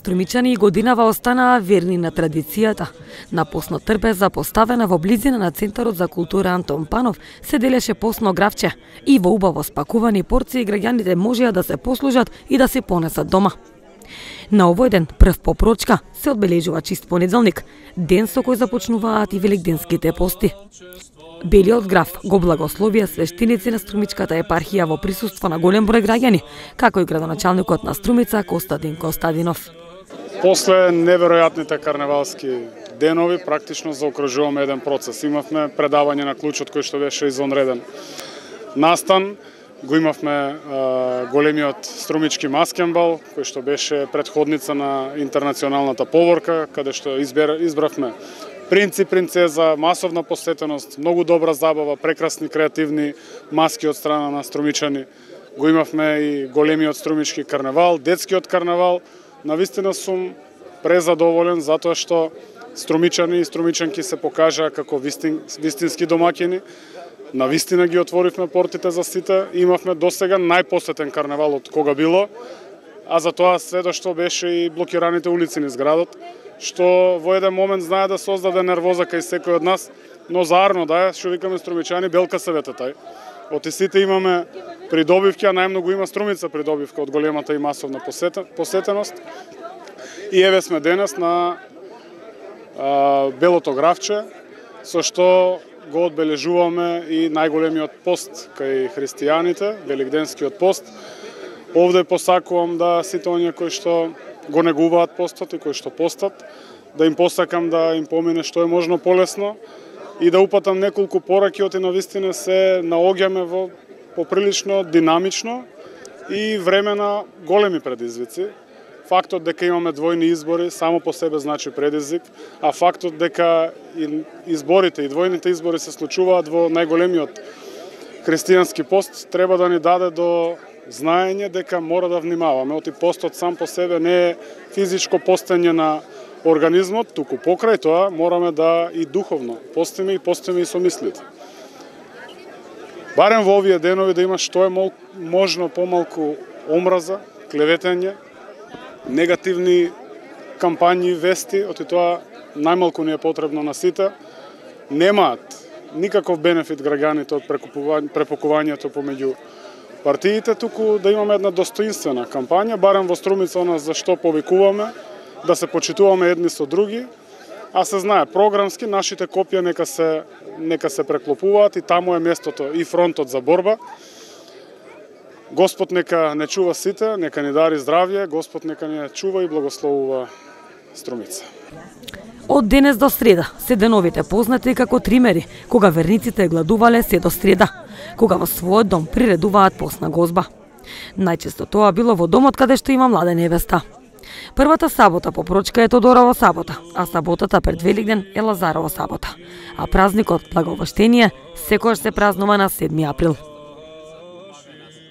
Струмичани и годинава останаа верни на традицијата. На постно трпеза, поставена во близина на Центарот за култура Антон Панов, се делеше постно гравче и во убаво спакувани порции граѓаните можеа да се послужат и да се понесат дома. На овој ден, прв по прочка, се одбележува чист понеделник, ден со кој започнуваат и великденските пости. Белиот граф го благословија свештеници на Струмичката епархија во присуство на голем број граѓани, како и градоначалникот на Струмица Костадин Костадинов. После неверојатните карневалски денови, практично заокружуваме еден процес. Имавме предавање на клучот кој што беше извонреден настан, го имавме големиот струмички маскенбал, кој што беше претходница на интернационалната поворка, каде што избравме принц и принцеза, масовна посетеност, многу добра забава, прекрасни креативни маски од страна на струмичани. Го имавме и големиот струмички карневал, детскиот карневал. Навистина сум презадоволен затоа што струмичани и струмичанки се покажаа како вистински домаќини. Навистина ги отворивме портите за сите. Имавме досега најпосетен карневал од кога било, а за тоа сведо што беше и блокираните улици низ градот, што во еден момент знае да создаде нервоза кај секој од нас, но заарно да е, што викаме струмичани, белка севете тај. Од сите имаме придобивки, а најмногу има Струмица придобивка од големата и масовна посетеност. И еве сме денес на Белото гравче, со што го одбележуваме и најголемиот пост кај христијаните, великденскиот пост. Овде посакувам да сите оние кои што го негуваат постот и кои што постат, да им посакам да им помине што е можно полесно и да упатам неколку пораки, оти навистина се наоѓаме во поприлично динамично и време на големи предизвици. Фактот дека имаме двојни избори само по себе значи предизвик, а фактот дека изборите и двојните избори се случуваат во најголемиот христијански пост треба да ни даде до знаење дека мора да внимаваме. Оти постот сам по себе не е физичко постење на организмот, туку покрај тоа мораме да и духовно постиме и со мислите. Барем во овие денови да има што е можно помалку омраза, клеветење, негативни кампањи, вести, оти тоа најмалку ни е потребно на сите. Немаат никаков бенефит граѓаните од препукувањето помеѓу партиите, туку да имаме една достоинствена кампања, барем во Струмица она за што повикуваме, да се почитуваме едни со други, а се знае програмски нашите копија нека се преклопуваат и таму е местото и фронтот за борба. Господ нека не чува сите, нека ни дари здравје, Господ нека ни чува и благословува Струмица. Од денес до среда се деновите познати како тримери, кога верниците гладувале се до среда, кога во својот дом приредуваат постна гозба. Најчесто тоа било во домот каде што има млада невеста. Првата сабота по прочка е Тодорова сабота, а саботата пред Великден е Лазарова сабота. А празникот Благовештение секогаш се празнува на 7 април.